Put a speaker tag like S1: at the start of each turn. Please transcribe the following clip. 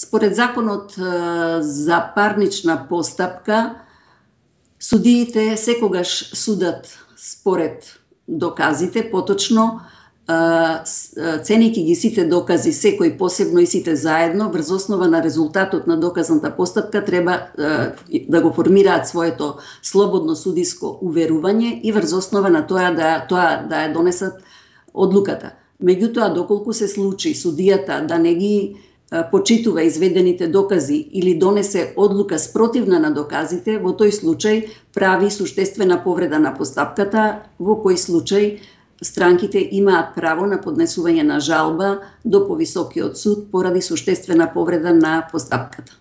S1: Според законот за парнична постапка, судиите секогаш судат според доказите, поточно ценејќи ги сите докази, секој посебно и сите заедно, врз основа на резултатот на доказната постапка треба да го формираат своето слободно судиско уверување и врз основа на тоа да ја донесат одлуката. Меѓутоа, доколку се случи судијата да не ги почитува изведените докази или донесе одлука спротивна на доказите, во тој случај прави суштествена повреда на постапката, во кој случај странките имаат право на поднесување на жалба до повисокиот суд поради суштествена повреда на постапката.